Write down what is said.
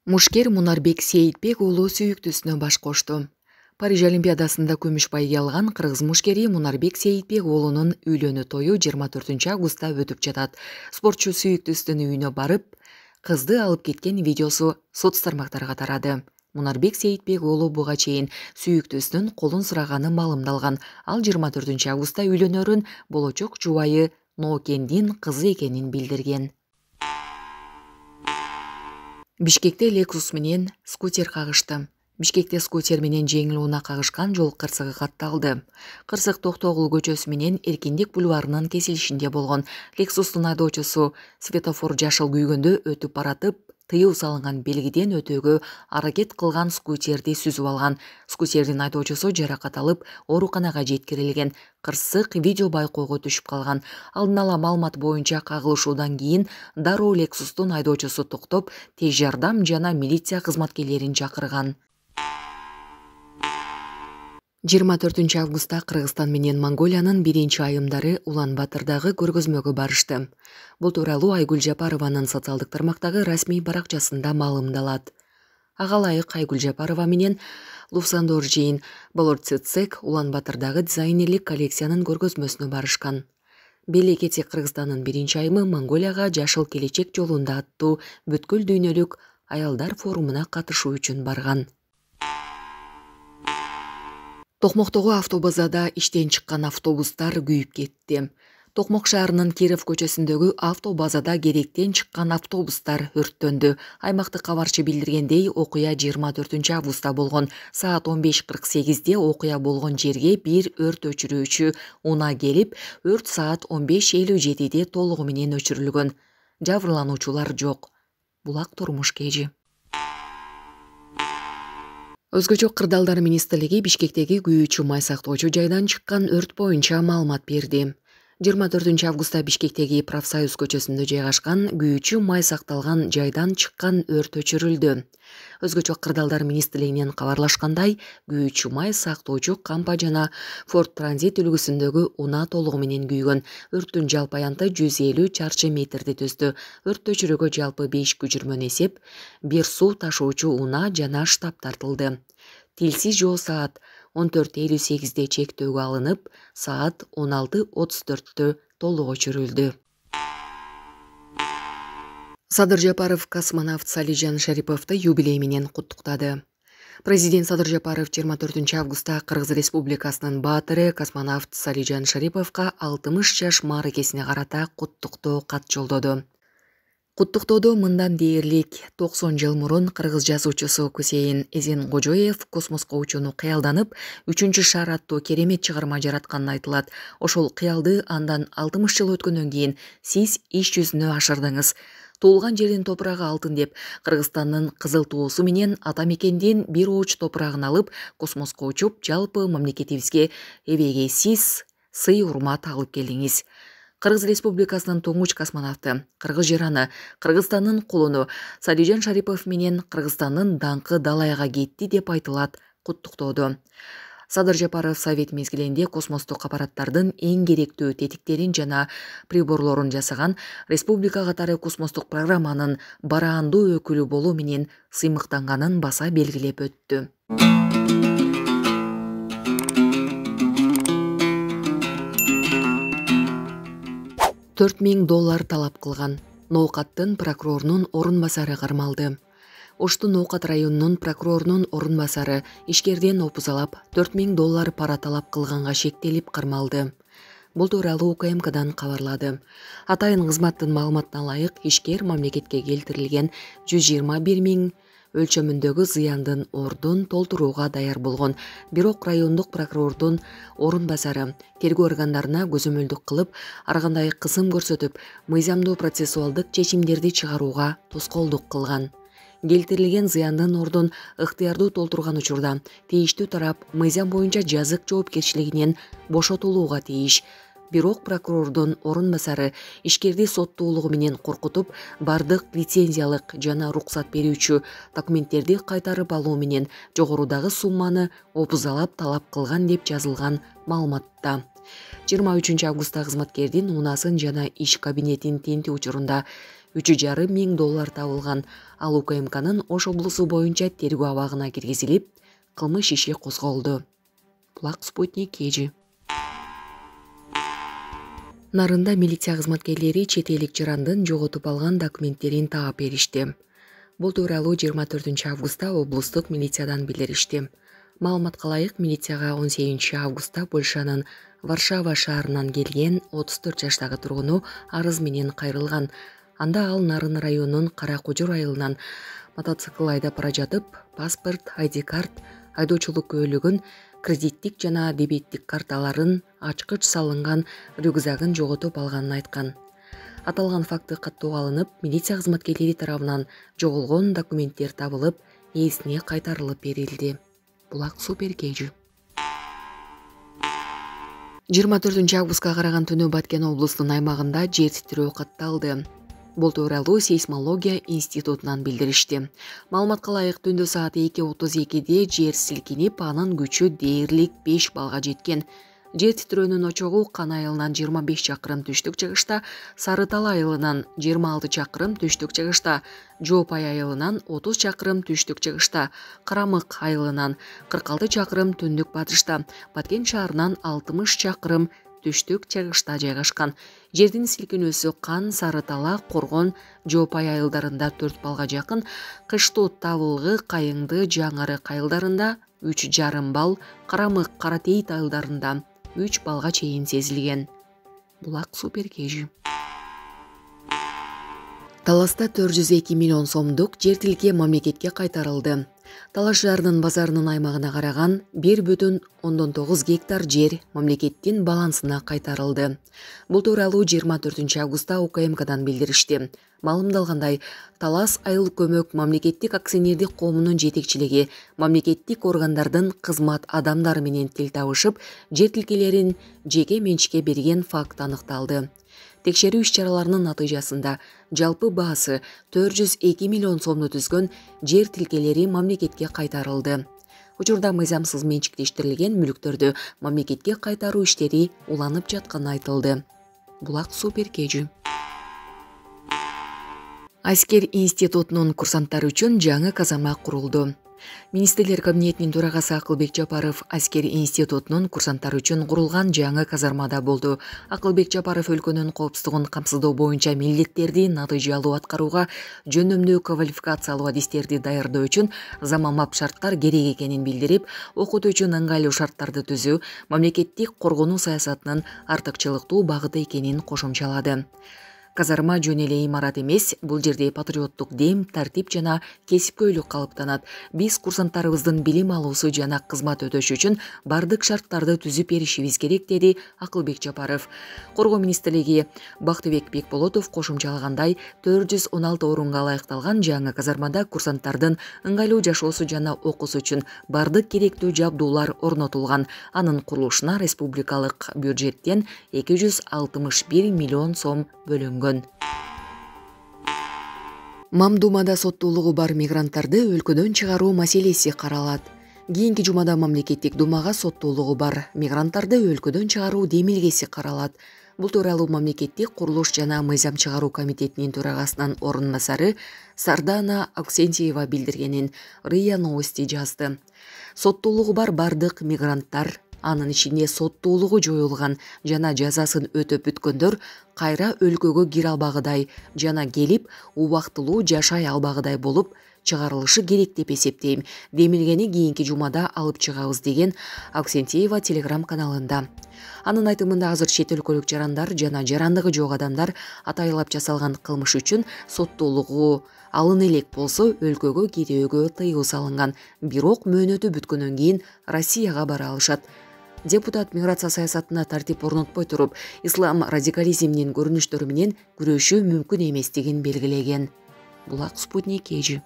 Мушкер Мунарбек Сейитбек уулу сүйүктүүсүнө баш кошту. Париж Олимпиадасында күмүш байге алган кыргыз мушкери Мунарбек Сейитбек уулунун үйлөнүү тою 24 августта өтүп жатат. Спортчу сүйүктүүсүнүн үйүнө барып, кызды алып кеткен видеосу соц тармактарга тарады. Мунарбек Сейитбек уулу буга чейин сүйүктүүсүнүн колун сураганы маалымдалган. Ал 24 августта үйлөнөрүн болочок жубайы Ноокендин кызы экенин билдирген. Бишкекте Lexus менен скутер кагышты. Бишкекте скутер менен жеңил унаа кагышкан жол кырсыгы катталды. Кырсык Токтогул көчөсү менен Эркиндик бульварынын кесилишинде болгон. Lexustун айдоочусу светофор жашыл күйгөндө өтүп баратып, тыюу салынган белгиден өтүүгө аракет кылган скутерди сүзүп алган. Скутердин айдоочусу жаракат алып, ооруканага жеткирилген. Кырсык видео байкоого түшүп калган. Алдын ала маалымат боюнча кагылышуудан кийин дароо Lexustун айдоочусу токтоп, тез жардам жана милиция кызматкерлерин чакырган. 24 августта Кыргызстан менен Монголиянын биринчи айымдары Улан-Батырдагы көргөзмөгө барышты. Бул тууралуу Айгүл Жапарованын социалдык тармактагы расмий баракчасында маалымдалат. Ага ылайык Айгүл Жапарова менен Луфсандор Жейн Болорцецек Улан-Батырдагы дизайнерлик коллекциянын көргөзмөсүнө барышкан. Белекети Кыргызстандын биринчи айымы Монголияга Жашыл келечек жолунда аттуу бүткүл дүйнөлүк аялдар форумуна катышуу үчүн барган. Токмоктогу автобазада иштен чыккан автобустар күйүп кетти. Токмок шаарынын Киров көчөсүндөгү автобазада керектен чыккан автобустар өрттөндү. Аймактык кабарчы билдиргендей, окуя 24 августта болгон. Саат 15:48 окуя болгон жерге бир өрт өчүрүүчү унаа келип, өрт саат 15:57 толугу менен өчүрүлгөн. Жабырлануучулар жок. Булак турмуш кежи. Өзгөчө Кырдаалдар министрлиги Бишкектеги күйүүчү май сактоочу жайдан чыккан өрт боюнча маалымат берди. 24 августта Бишкектеги Профсоюз көчөсүндө жайгашкан күйүүчү май сакталган жайдан чыккан өрт өчүрүлдү. Өзгөчө Кырдаалдар министрлигинен кабарлашкандай, күйүүчү май сактоочу Кампа жана Форд Транзит үлгүсүндөгү унаа толугу менен күйгөн. Өрттүн жалпы аянты 150 чарчы метрди түздү. Өрт өчүрүүгө жалпы 5 көчүрмөн эсеп, бир суу ташуучу унаа жана штаб тартылды. Тилсиз жоо саат 14:58 чектөөгө алынып, саат 16:34 толук өчүрүлдү. Садыр Жапаров космонавт Салижан Шариповду юбилей менен куттуктады. Президент Садыр Жапаров 24 августта Кыргыз Республикасынын баатыры космонавт Салижан Шариповго 60 жаш мааракесине карата куттуктоо кат жолдоду. Куттуктоодо мындан дээрлик 90 жыл мурун кыргыз жазуучусу Кусейин Эзенкожоев космоско учууну кыялданып, 3 шаар аттуу керемет чыгарма жаратканы айтылат. Ошол кыялды андан 60 жыл өткөндөн кийин сиз иш жүзүнө ашырдыңыз. Туулган жердин топурагы алтын деп, Кыргызстандын кызыл туусу менен ата мекендин бир ооч топурагын алып, космоско учуп, жалпы мамлекетибизге эбегей сиз сый урмат алып келдиңиз. Кыргыз Республикасынын туңгуч космонавты, кыргыз жараны, Кыргызстандын кулуну Салижан Шарипов менен Кыргызстандын даңкы далайга кетти деп айтылат куттуктоодо. Садыр Жапаров совет мезгилинде космостук аппараттардын эң керектүү тетиктерин жана приборлорун жасаган, республика катары космостук программанын бараандуу өкүлү болуу менен сыймыктанганын баса белгилеп өттү. $4000 талап кылган. Ноокаттын прокурорунун орун басары кармалды. Оштун Ноокат районунун прокурорунун орун басары ишкерден опузалап $4000 пара талап кылганга шектелип кармалды. Бул тууралуу УКМКдан кабарлады. Атайын кызматтын маалыматына ылайык, ишкер мамлекетке келтирилген 121 000 өлчөмүндөгү зыяндын ордун толтурууга даяр болгон. Бирок райондук прокурордун орун басары тергөө органдарына көзөмөлдүк кылып, ар кандай кысым көрсөтүп, мыйзамдуу процессуалдык чечимдерди чыгарууга тоскоолдук кылган. Келтирилген зыяндын ордун ыктыярдуу толтурган учурда тийиштүү тарап мыйзам боюнча жазык жоопкерчилигинен бошотулууга тийиш. Бирок прокурордун орун басары ишкерди соттуулугу менен коркутуп, бардык лицензиялык жана уруксат берүүчү документтерди кайтарып алуу менен жогорудагы сумманы опузалап талап кылган деп жазылган маалыматта. 23 августта кызматкердин унаасын жана иш кабинетин тинтүү учурунда $3,5 миң табылган. Ал УКМКнын Ош облусу боюнча тергөө абагына киргизилип, кылмыш иши козголду. Булак Спутник KG. Нарында милиция кызматкерлери чет элик жарандын жоготуп алган документтерин таап беришти. Бул тууралуу 24 августта облустук милициядан билдиришти. Маалыматка ылайык, милицияга 18 августта Польшанын Варшава шаарынан келген 34 жаштагы тургуну арыз менен кайрылган. Анда ал Нарын районунун Кара Кожур айылынан мотоцикл айдап бара жатып, паспорт, ID-карт, айдоочулук күбөлүгүн, кредиттик жана дебеттик карталарын, ачкыч салынган рюкзагын жоготуп алганын айткан. Аталган факты каттоого алынып, милиция кызматкерлери тарабынан жоголгон документтер табылып, ээсине кайтарылып берилди. Булак Супер KG. 24 августка караган түнү Баткен облусунун аймагында жер титирөө катталды. Бул тууралуу сейсмология институтунан билдиришти. Маалыматка ылайык, түндө саат 2:32 жер силкинип, анын күчү дээрлик 5 балга жеткен. Жер титирөөнүн очогу Кан айылынан 25 чакырым түштүк-чыгышта, Сары Тал айылынан 26 чакырым түштүк-чыгышта, Жоопай айылынан 30 чакырым түштүк-чыгышта, Карамык айылынан 46 чакырым түндүк-батышта, Баткен шаарынан 60 чакырым түштүк-чыгышта жайгашкан. Жердин силкинүүсү Кан, Сары Тала, Коргон, Жоопай айылдарында 4 балга жакын, Кыштоо, Табылгы, Кайыңды, Жаңырык айылдарында 3,5 бал, Карамык, Каратейит айылдарында 3 балга чейин сезилген. Булак Супер KG. Таласта 402 миллион сомдук жер тилке мамлекетке кайтарылды. Талаш шаарынын базарынын аймагына караган 1,9 гектар жер мамлекеттин балансына кайтарылды. Бул тууралуу 24 августта УКМКдан билдиришти. Маалымдалгандай, Талас айыл көмөк мамлекеттик акционердик коомунун жетекчилиги мамлекеттик органдардын кызмат адамдары менен тил табышып, жер тилкелерин жеке менчикке берген факт аныкталды. Текшерүү иш-чараларынын натыйжасында жалпы баасы 402 миллион сомду түзгөн жер тилкелери мамлекетке кайтарылды. Учурда мыйзамсыз менчиктештирилген мүлктөрдү мамлекетке кайтаруу иштери уланып жатканы айтылды. Булак Супер KG. Аскер институтунун курсанттары үчүн жаңы казарма курулду. Министрлер кабинетинин төрагасы Акылбек Жапаров Аскер институтунун курсанттары үчүн курулган жаңы казармада болду. Акылбек Жапаров өлкөнүн коопсуздугун камсыздоо боюнча милдеттерди натыйжалуу аткарууга, жөнөмдүү квалификациялуу адистерди даярдоо үчүн заманбап шарттар керек экенин билдирип, окутуу үчүн ыңгайлуу шарттарды түзүү мамлекеттик коргонуу саясатынын артыкчылыктуу багыты экенин кошумчалады. Казарма жөн эле имарат эмес, бул жерде патриоттук дем, тартип жана кесипкөйлүк калыптанат. Биз курсанттарыбыздын билим алуусу жана кызмат өтөшү үчүн бардык шарттарды түзүп беришибиз керек, деди Акылбек Жапаров. Коргоо министрлиги Бактыбек Бекболотов кошумчалагандай, 416 орунга ылайыкталган жаңы казармада курсанттардын ыңгайлуу жашоосу жана окуусу үчүн бардык керектүү жабдуулар орнотулган. Анын курулушуна республикалык бюджеттен 261 миллион сом бөлүнгөн. Мамдумада соттуулугу бар мигранттарды өлкөдөн чыгаруу маселеси каралат. Кийинки жумада мамлекеттик думага соттуулугу бар мигранттарды өлкөдөн чыгаруу демилгеси каралат. Бул тууралуу мамлекеттик курулуш жана мыйзам чыгаруу комитетинин төрагасынын орун басары Сардана Аксентьева билдиргенин РИА Новости жазды. Соттуулугу бар бардык мигранттар, анын ичинде соттуулугу жоюлган жана жазасын өтөп бүткөндөр кайра өлкөгө кире албагыдай жана келип убактылуу жашай албагыдай болуп чыгарылышы керек деп эсептейм. Демилгени кийинки жумада алып чыгабыз, деген Аксентьева телеграм каналында. Анын айтымында азыр чет өлкөлүк жарандар жана жарандыгы жок адамдар атайлап жасалган кылмыш үчүн соттуулугу алын элек болсо өлкөгө кирүүгө тыюу салынган. Бирок мөөнөтү бүткөндөн кийин Россияга бара алышат. Депутат миграция саясатына тартип орнотпой туруп, ислам радикализминин көрүнүштөрү менен күрөшүү мүмкүн эместигин белгилеген. Булак Спутник KG.